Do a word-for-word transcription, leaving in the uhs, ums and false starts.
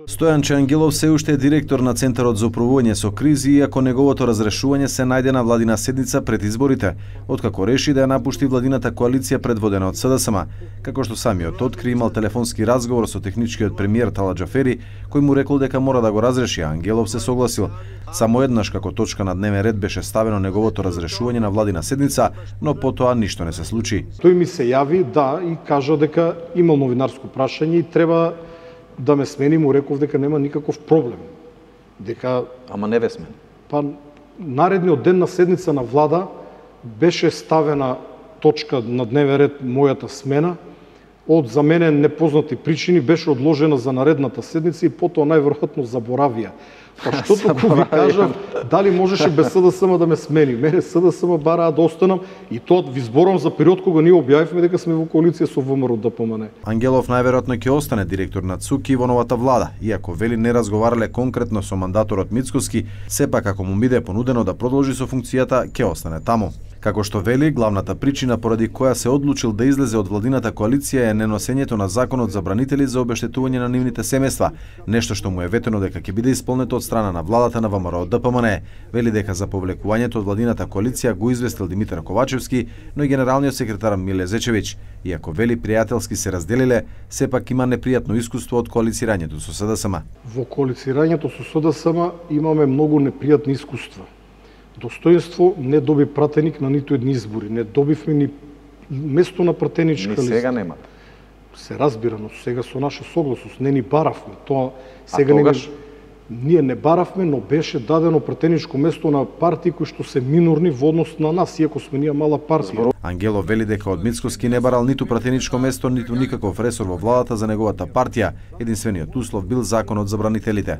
Стојанче Ангелов се уште е директор на Центарот за управување со кризи, иако неговото разрешување се најде на владина седница пред изборите, откако реши да ја напушти владината коалиција предводена од СДСМ, како што самиот откри имал телефонски разговор со техничкиот премиер Талат Џафери, кој му рекол дека мора да го разреши, а Ангелов се согласил. Само еднаш како точка на дневен ред беше ставено неговото разрешување на владина седница, но потоа ништо не се случи. Тој ми се јави, да, и кажа дека имал новинарско прашање и треба да ме смени, му реков дека нема никаков проблем. Дека Ама не ве смени. Па наредниот ден на седница на влада беше ставена точка на дневен ред мојата смена. Од за мене непознати причини беше одложена за наредната седница и потоа најверојатно заборавија. Па што току ви кажав, дали можеше без СДСМ да ме смени? Мене СДСМ бараа да останам и тоа ви зборам за период кога ние објавивме дека сме во коалиција со ВМРО ДПМН. Ангелов најверојатно ќе остане директор на ЦУК и во новата влада, иако вели не разговарале конкретно со мандаторот Мицкоски, сепак ако му биде понудено да продолжи со функцијата, ќе остане таму. Како што вели, главната причина поради која се одлучил да излезе од владината коалиција е неносењето на законот за бранители за обештетување на нивните семејства, нешто што му е ветено дека ќе биде исполнето од страна на владата на ВМРО ДПМН. Вели дека за повлекувањето од владината коалиција го известил Димитар Ковачевски, но и генералниот секретар Миле Зечевиќ. Иако вели пријателски се разделиле, сепак има непријатно искуство од коалицирањето со СДСМ. Во коалицирањето со СДСМ имаме многу непријатни искуства. Достоинство не доби пратеник на ниту едни избори. Не добивме ни место на пратеничка листа. Ни сега немате. Се разбира, но сега со наша согласност не ни баравме. Тоа сега не ние не баравме, но беше дадено пратеничко место на партии кои што се минорни во однос на нас, иако сме ние мала партија. Ангелов вели дека од Мицкоски не барал ниту пратеничко место, ниту никаков ресор во владата за неговата партија. Единствениот услов бил законот за бранителите.